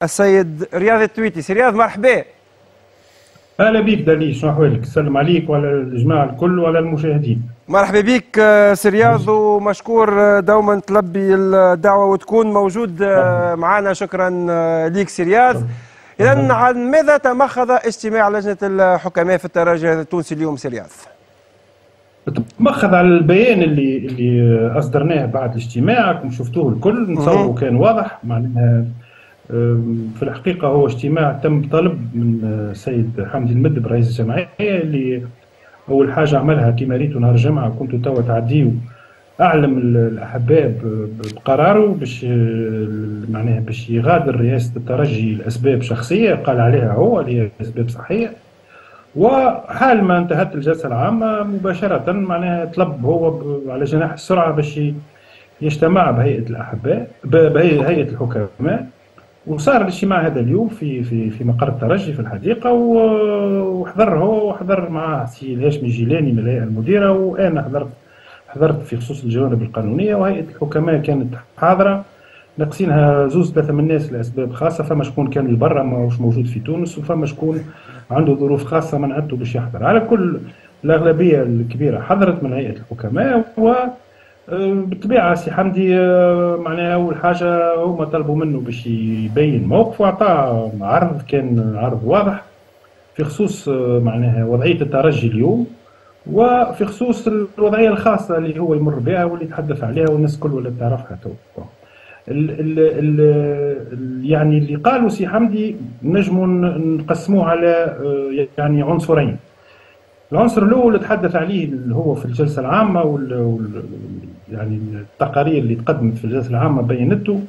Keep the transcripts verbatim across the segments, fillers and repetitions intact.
السيد رياض التويتي. سي رياض مرحبا. اهلا بك دليل، شنو احوالك؟ السلام عليك وعلى الجماعة الكل وعلى المشاهدين. مرحبا بك سي رياض، ومشكور دوما تلبي الدعوة وتكون موجود معنا. شكرا لك سي رياض. اذا عن ماذا تمخض اجتماع لجنة الحكماء في الترجي التونسي اليوم سي رياض؟ تمخض على البيان اللي اللي اصدرناه بعد الاجتماع، كم شفتوه الكل، نتصوروا كان واضح. معناها في الحقيقة هو اجتماع تم طلب من السيد حمدي المدب رئيس الجمعية، اللي أول حاجة عملها كما ريتوا نهار الجمعة كنتوا توا تعديوا، أعلم الأحباب بقراره باش معناها باش يغادر رئاسة الترجي لأسباب شخصية قال عليها هو اللي هي أسباب صحية. وحال ما انتهت الجلسة العامة مباشرة معناها طلب هو على جناح السرعة باش يجتمع بهيئة الأحباء بهيئة الحكماء، وصار الاجتماع هذا اليوم في في في مقر الترجي في الحديقة، وحضر هو وحضر معاه سي الهاشمي الجيلاني من الهيئة المديرة، وانا حضرت حضرت في خصوص الجوانب القانونية، وهيئة الحكماء كانت حاضره، ناقصينها زوز ثلاثة من الناس لاسباب خاصة، فما شكون كان لبرا ماهوش موجود في تونس، وفما شكون عنده ظروف خاصة منعته باش يحضر. على كل الاغلبية الكبيرة حضرت من هيئة الحكماء، و بالطبيعة سي حمدي معناها اول حاجة هما طلبوا منه باش يبين موقفه، وعطاه عرض كان عرض واضح في خصوص معناها وضعية الترجي اليوم، وفي خصوص الوضعية الخاصة اللي هو يمر بها واللي تحدث عليها والناس الكل ولا تعرفها تو. ال ال ال يعني اللي قالوا سي حمدي نجموا نقسموه على يعني عنصرين. العنصر الاول تحدث عليه اللي هو في الجلسة العامة وال, وال يعني التقارير اللي تقدمت في الجلسة العامة بينته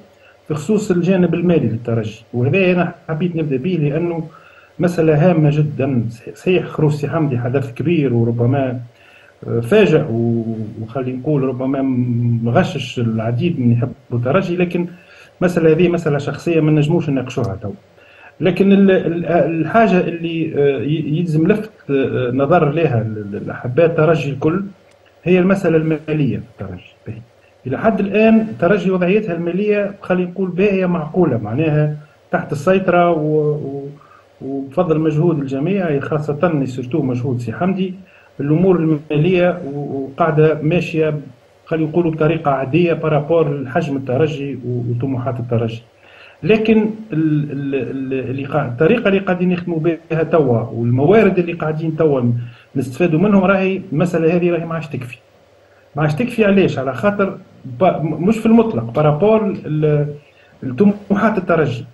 في خصوص الجانب المالي للترجي، وهذا انا حبيت نبدا به لانه مسالة هامة جدا. صحيح خروج سي حمدي حدث كبير وربما فاجأ وخلي نقول ربما مغشش العديد من يحبوا الترجي، لكن المسالة هذه مسالة شخصية ما نجموش نناقشوها تو. لكن الحاجة اللي يلزم لفت نظر لها الأحباء الترجي الكل هي المسألة المالية في الترجي. إلى حد الآن الترجي وضعيتها المالية خلينا نقول باهية معقولة، معناها تحت السيطرة وبفضل مجهود الجميع، خاصة surtout مجهود سي حمدي، الأمور المالية وقاعدة ماشية خلينا نقولوا بطريقة عادية par rapport لحجم الترجي وطموحات الترجي. لكن الطريقة اللي قاعدين يخدموا بها توا والموارد اللي قاعدين توا نستفادوا منهم، راهي المسالة هذه راهي ما عادش تكفي. ما عادش تكفي علاش؟ على خاطر مش في المطلق par rapport لطموحات الترجي.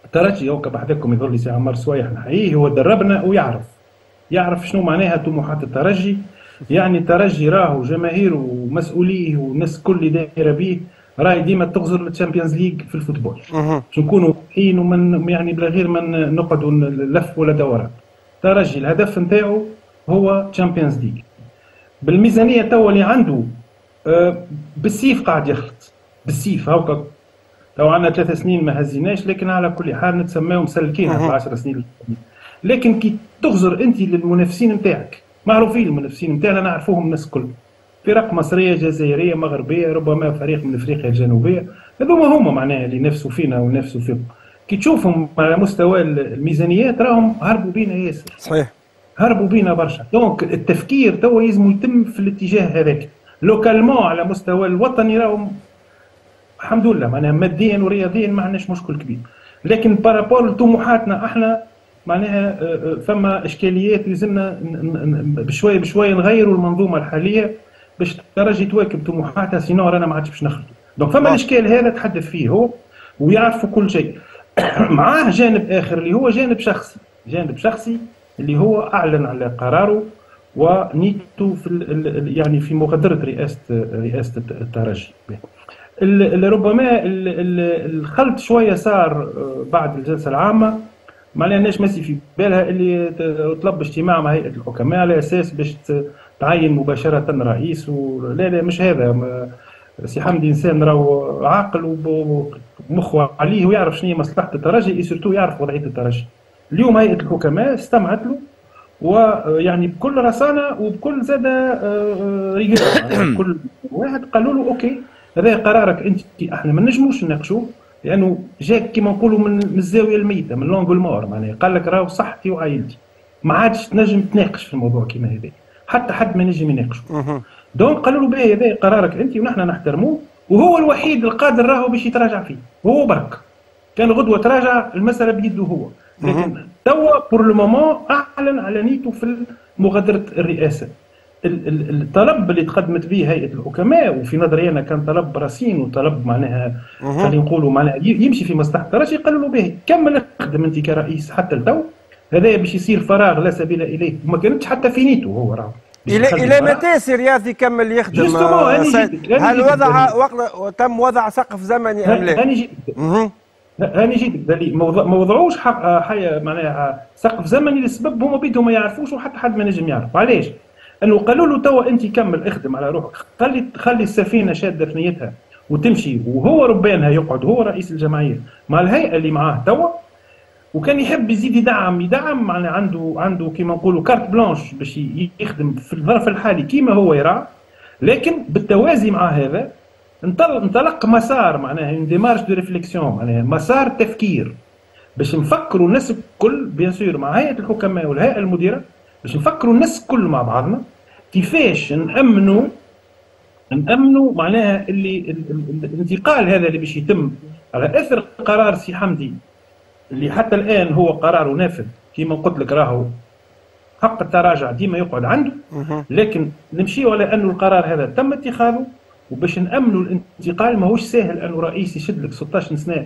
الترجي هو بحذاكم يظل لي سي عمار سويح نحييه، هو دربنا ويعرف يعرف شنو معناها طموحات الترجي. يعني الترجي راهو جماهيره ومسؤولية والناس الكل اللي دايرة به راهي ديما تغزر لل Champions League في ال football. باش نكونوا واضحين ومن يعني بلا غير ما نقعدوا نلف ولا دوران. الترجي الهدف نتاعو هو Champions League. بالميزانيه توا اللي عنده آه بالسيف قاعد يخلط بالسيف. هاكا تو عندنا ثلاث سنين ما هزيناش، لكن على كل حال نتسماو مسلكينها في عشر سنين. لكن كي تغزر انت للمنافسين نتاعك، معروفين المنافسين نتاعنا نعرفوهم الناس الكل، فرق مصرية جزائرية مغربية ربما فريق من افريقيا الجنوبية، هذوما هما معناها اللي نافسوا فينا ونافسوا فيهم. كي تشوفهم على مستوى الميزانيات راهم هربوا بينا ياسر. صحيح هربوا بينا برشا. donc التفكير توا لازم يتم في الاتجاه هذاك. localement على مستوى الوطني راهم الحمد لله معناها ماديا ورياضيا ما عندناش مشكل كبير، لكن par rapport لطموحاتنا احنا معناها فما اشكاليات لازمنا بشوية بشوية نغيروا المنظومة الحالية باش الترجي تواكب طموحاتها، sinon رانا ما عادش باش نخرجوا. donc فما الاشكال هذا تحدث فيه هو ويعرفوا كل شيء. معاه جانب اخر اللي هو جانب شخصي، جانب شخصي اللي هو اعلن على قراره ونيته في يعني في مغادرة رئاسة رئاسة الترجي. ربما الخلط شوية صار بعد الجلسة العامة، معناها الناس ماشي في بالها اللي طلب اجتماع مع هيئة الحكماء على اساس باش تعين مباشرة رئيس و... لا لا مش هذا. سي حمدي انسان راهو عاقل ومخه عليه ويعرف شنو هي مصلحة الترجي، surtout يعرف وضعية الترجي. اليوم هيئة الحكماء استمعت له ويعني بكل رصانه وبكل زاده rigueur، كل واحد قالوا له OK هذا قرارك انت، احنا ما نجموش نناقشوه، لانه جاك كيما نقولوا من الزاوية الميتة، من l'angle mort، معناها قال لك راهو صحتي وعائلتي ما عادش تنجم تناقش في الموضوع كيما هذا، حتى حد ما نجم يناقشه. donc قالوا له باهي هذا قرارك انت ونحن نحترموه، وهو الوحيد القادر راهو باش يتراجع فيه، هو برك. كان غدوه تراجع المسالة بيده هو، لكن توا pour le moment اعلن على نيته في مغادرة الرئاسة. الطلب اللي تقدمت به هيئة الحكماء وفي نظري انا كان طلب رصين وطلب معناها خلينا نقولوا معناها يمشي في مصلحة الترجي، قالوا له به كمل اخدم انت كرئيس حتى لتو، هذا باش يصير فراغ لا سبيل اليه، وما كانتش حتى في نيته هو راه. الى الى متى سي رياض يكمل يخدم؟ هل وضع وقت تم وضع سقف زمني ام لا؟ هاني جيتك هاني جيتك ما وضعوش حي معناها سقف زمني للسبب هما بيدهم ما يعرفوش وحتى حد ما نجم يعرف علاش. انه قالوا له توا انت كمل اخدم على روحك، خلي خلي السفينة شاده ثنيتها وتمشي، وهو ربانها يقعد هو رئيس الجمعية مع الهيئة اللي معاه توا، وكان يحب يزيد يدعم يدعم معناها عنده عنده كيما نقولوا carte blanche باش يخدم في الظرف الحالي كيما هو يرى، لكن بالتوازي مع هذا انطلق مسار معناها une démarche de réflexion، معناها مسار تفكير باش نفكروا الناس الكل bien sûr مع هيئة الحكماء والهيئة المديرة، باش نفكروا الناس الكل مع بعضنا كيفاش نامنوا نامنوا معناها اللي الانتقال هذا اللي باش يتم على اثر قرار سي حمدي اللي حتى الان هو قراره نافذ كما قلت لك، راهو حق التراجع ديما يقعد عنده، لكن نمشيو على انه القرار هذا تم اتخاذه، وباش نامنوا الانتقال ماهوش ساهل انه رئيس يشد لك ستاش سنة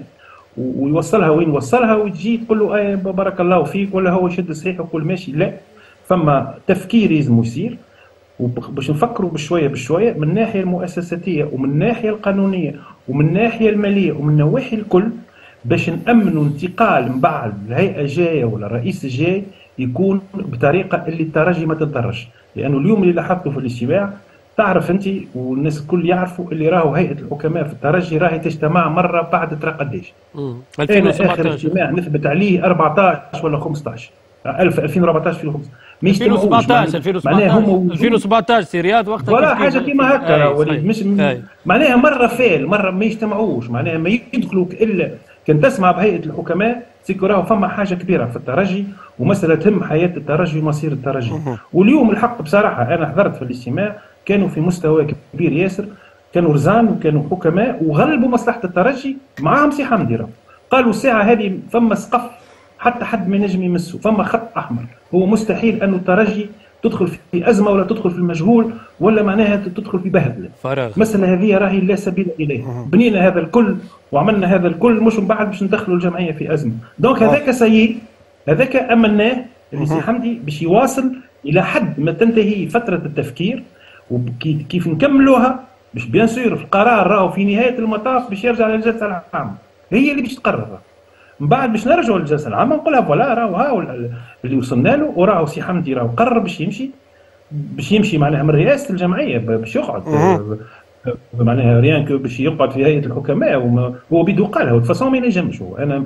ويوصلها وين وصلها وتجي تقول له اي بارك الله فيك، ولا هو يشد صحيح ويقول ماشي. لا، فما تفكير لازم يصير، وباش نفكروا بشوية بشوية من الناحية المؤسساتيه ومن الناحية القانونية ومن الناحية المالية ومن النواحي الكل باش نامنوا انتقال من بعد الهيئة الجاية ولا الرئيس الجاي يكون بطريقة اللي الترجي ما تتضرش. لانه اليوم اللي لاحظته في الاجتماع تعرف انت والناس الكل يعرفوا اللي راهو هيئة الحكماء في الترجي راهي تجتمع مرة بعد ترى قداش. انا اخر اجتماع نثبت عليه أربعطاش ولا خمسطاش ألفين وأربعطاش في خمسطاش ما يجتمعوش. ألفين وسبعطاش سي رياض وقتها ولا حاجة كيما هكا، مش معناها مرة فال مرة ما يجتمعوش، معناها ما يدخلوا الا كان تسمع بهيئة الحكماء c'est que راهو فما حاجة كبيرة في الترجي ومسالة تهم حياة الترجي ومصير الترجي. واليوم الحق بصراحة انا حضرت في الاجتماع كانوا في مستوى كبير ياسر، كانوا رزان وكانوا حكماء وغلبوا مصلحة الترجي معاهم سي حمدي. راهو قالوا الساعة هذه فما سقف حتى حد ما ينجم يمسه، فما خط احمر، هو مستحيل انه الترجي تدخل في ازمة ولا تدخل في المجهول ولا معناها تدخل في بهدله. فراغ. المسالة هذه راهي لا سبيل اليها، بنينا هذا الكل وعملنا هذا الكل مش من بعد باش ندخلوا الجمعية في ازمة، donc هذاك سيء، هذاك امناه اللي سي حمدي باش يواصل الى حد ما تنتهي فترة التفكير، وكيف نكملوها باش bien sûr القرار راهو في نهاية المطاف باش يرجع للجلسه العامة، هي اللي باش تقرر. من بعد باش نرجعوا للجلسه العامة نقولها voilà راهو هاو اللي وصلنا له، وراهو سي حمدي راهو قرر باش يمشي، باش يمشي معناها من رئاسة الجمعية باش يقعد معناها rien que باش يقعد في هيئة الحكماء، هو بيدو قالها de toute façon ما ينجمش هو، انا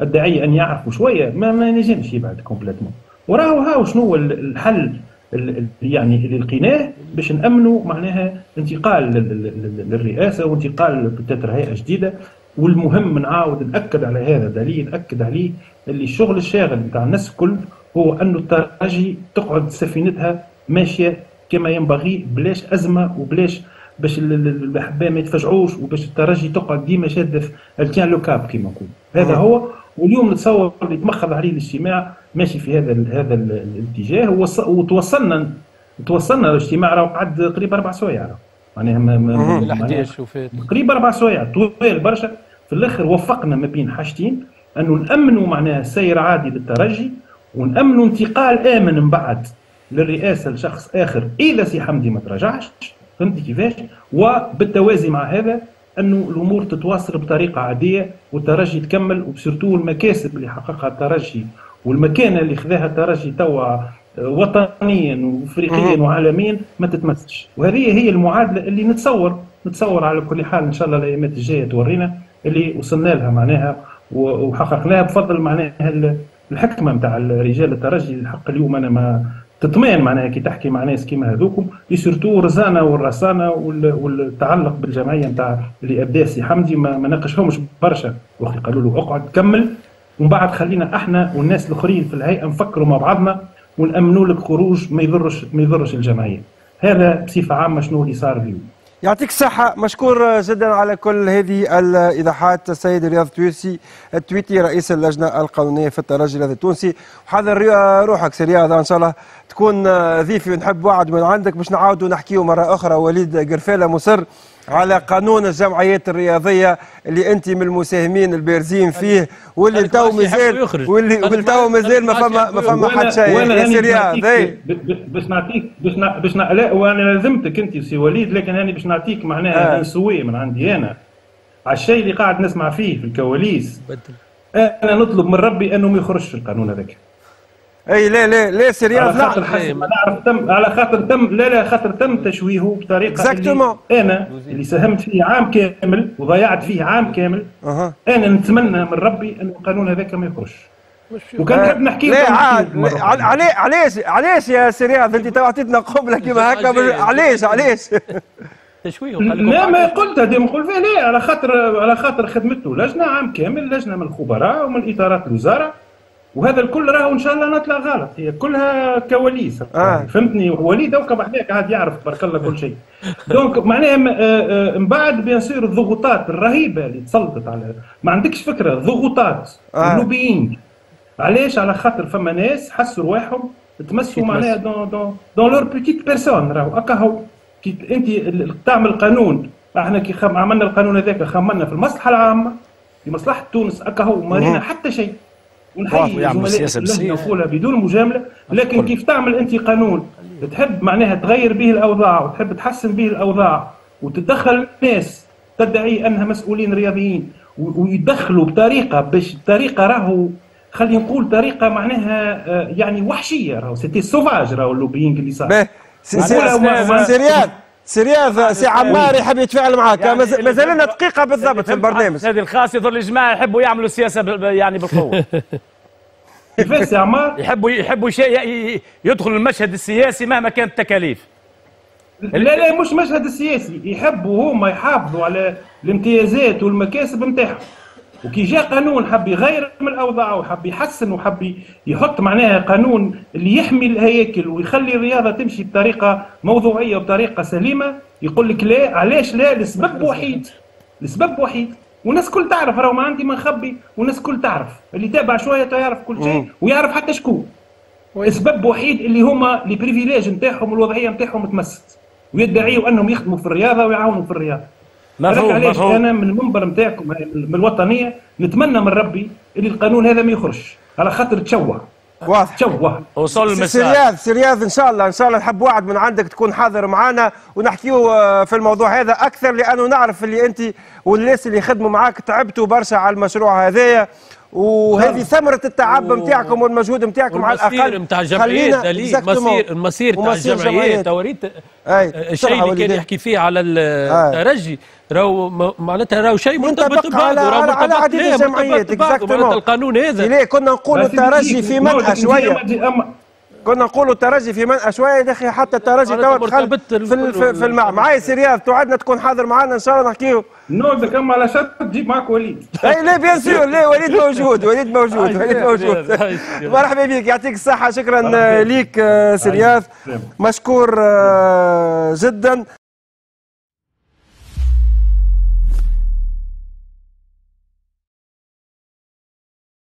ادعي ان يعرفوا شوية ما, ما ينجمش يبعد complètement. وراهو هاو شنو هو الحل يعني اللي لقيناه باش نامنوا معناها انتقال للرئاسة وانتقال peut-être هيئة جديدة. والمهم نعاود ناكد على هذا دليل ناكد عليه اللي الشغل الشاغل نتاع الناس الكل هو انه الترجي تقعد سفينتها ماشية كما ينبغي بلاش ازمة وبلاش باش الاحباء ما يتفجعوش وباش الترجي تقعد ديما شاده tient le cap كما نقول. هذا هو. واليوم نتصور اللي تمخض عليه الاجتماع ماشي في هذا ال هذا الاتجاه، وتوصلنا توصلنا الاجتماع راه قعد قريب اربع سوايع معناها قريب اربع سوايع طويل برشا. في الاخر وفقنا ما بين حاجتين، انه نامنوا معناها سير عادي للترجي ونامنوا انتقال امن من بعد للرئاسة لشخص اخر اذا سي حمدي ما تراجعش، فهمتي كيفاش؟ وبالتوازي مع هذا انه الامور تتواصل بطريقة عادية والترجي تكمل، و surtout المكاسب اللي حققها الترجي والمكانة اللي خذاها الترجي توا وطنيا وافريقيا وعالميا ما تتمسش. وهذه هي المعادلة اللي نتصور نتصور على كل حال ان شاء الله الايامات الجاية تورينا اللي وصلنا لها معناها وحققناها بفضل معناها الحكمة نتاع رجال الترجي. الحق اليوم انا ما تطمئن معناها كي تحكي مع ناس كيما هذوكم، surtout رزانه والرصانه والتعلق بالجمعيه نتاع اللي ابداه سي حمدي ما, ما ناقشهمش برشا، وقت قالوا له اقعد كمل ومن بعد خلينا احنا والناس الاخرين في الهيئة نفكروا مع بعضنا ونامنوا لك خروج ما يضرش ما يضرش الجمعية. هذا بصفة عامة شنو اللي صار اليوم. يعطيك الصحة، مشكور جدا على كل هذه الإيضاحات السيد رياض التويسي التويتي رئيس اللجنة القانونية في الترجي الرياضي التونسي. وحضر روحك سي رياض، إن شاء الله تكون ضيفي ونحب وعد من عندك باش نعاودوا نحكيو مرة أخرى. وليد قرفالة مصر على قانون الجمعيات الرياضية اللي أنت من المساهمين البارزين فيه، واللي تو مازال واللي تو مازال ما فما ما فما حد شيء يا سي رياض. باش نعطيك باش باش لا وانا لازمتك انت سي وليد، لكن انا باش نعطيك معناها un souhait من عندي انا على الشيء اللي قاعد نسمع فيه في الكواليس. انا نطلب من ربي انه ما يخرجش القانون هذاك. اي لا لا لا سي رياض، على خاطر حسب ما نعرف تم على خاطر تم لا لا خاطر تم تشويهه بطريقة اللي انا اللي ساهمت فيه عام كامل وضيعت فيه عام كامل. أه. انا نتمنى من ربي ان القانون هذاك ما يخرجش. وكان نحب نحكي لا علاش علاش علاش يا سي رياض انت تو عطيتنا قبله كيما هكا، علاش علاش تشويه؟ لا ما قلت هذه نقول فيها لا، على خاطر على خاطر خدمته لجنة عام كامل، لجنة من الخبراء ومن اطارات الوزارة، وهذا الكل راهو ان شاء الله نطلع غلط، هي كلها كواليس. آه. فهمتني وليد هوكا بحذاك عاد يعرف تبارك الله كل شيء. donc معناها من بعد bien sûr الضغوطات الرهيبة اللي تسلطت على، ما عندكش فكرة الضغوطات. آه. ال lobbying علاش؟ على خاطر فما ناس حسوا رواحهم تمسوا معناها dans dans dans leur petite personne، راهو هكا هو كي انت تعمل قانون. احنا كي خم... عملنا القانون هذاك خممنا في المصلحة العامة في مصلحة تونس هكا هو، ما رينا حتى شيء. ونحيي زملائي نقولها بدون مجاملة، لكن كيف تعمل انت قانون تحب معناها تغير به الاوضاع وتحب تحسن به الاوضاع وتدخل ناس تدعي انها مسؤولين رياضيين ويدخلوا بطريقة باش طريقه راهو خلينا نقول طريقه معناها يعني وحشية، راهو c'était sauvage، راهو ال lobbying اللي صار. سي رياض سي رياض سي عمار يحب يتفاعل معاك، يعني مازال لنا دقيقة بالضبط في البرنامج. هذه الخاص يظل الجماعة يحبوا يعملوا السياسة يعني بالقوة. كيفاش يا عمار؟ يحبوا يحبوا شيء يدخل المشهد السياسي مهما كانت التكاليف. لا لا مش مشهد السياسي، يحبوا هما يحافظوا على الامتيازات والمكاسب نتاعهم. وكي جاء قانون حب يغير من الاوضاع وحب يحسن وحب يحط معناها قانون اللي يحمي الهياكل ويخلي الرياضة تمشي بطريقة موضوعية وبطريقة سليمة، يقول لك لا. علاش لا؟ لسبب وحيد، لسبب وحيد، والناس كل تعرف، راهو ما عندي ما نخبي، والناس كل تعرف، اللي تابع شوية يعرف كل شيء ويعرف حتى شكون. السبب وحيد اللي هما les privilèges نتاعهم والوضعيه نتاعهم تمست، ويدعيوا انهم يخدموا في الرياضة ويعاونوا في الرياضة. مفهوم. علاش انا من المنبر نتاعكم من الوطنية نتمنى من ربي اللي القانون هذا ما يخرجش على خاطر تشوه. واضح تشوه. وصل ال message. سي رياض سي رياض ان شاء الله ان شاء الله نحب وعد من عندك تكون حاضر معنا ونحكيو في الموضوع هذا اكثر، لانه نعرف اللي انت والناس اللي خدموا معاك تعبتوا برشا على المشروع هذايا، وهذه ثمرة التعب نتاعكم والمجهود نتاعكم على الأقل. نتاع الجمعيات دليل المصير المصير تاع الجمعيات توريت الشيء اللي كان يحكي فيه على الترجي راهو معناتها راهو شيء مرتبط ببعضه، راهو على عديد الجمعيات. معناتها القانون هذا ليه كنا نقولوا الترجي في منأى شوية، كنا نقولوا الترجي في منأى شوية يا اخي، حتى الترجي توا دخل في في, في المع. معايا سي رياض توعدنا تكون حاضر معنا ان شاء الله نحكيو. نوعدك اما على شرط تجيب معك وليد. اي لا bien sûr، لا وليد موجود، وليد موجود، وليد موجود. مرحبا بك، يعطيك الصحة، شكرا ليك سي رياض، مشكور جدا.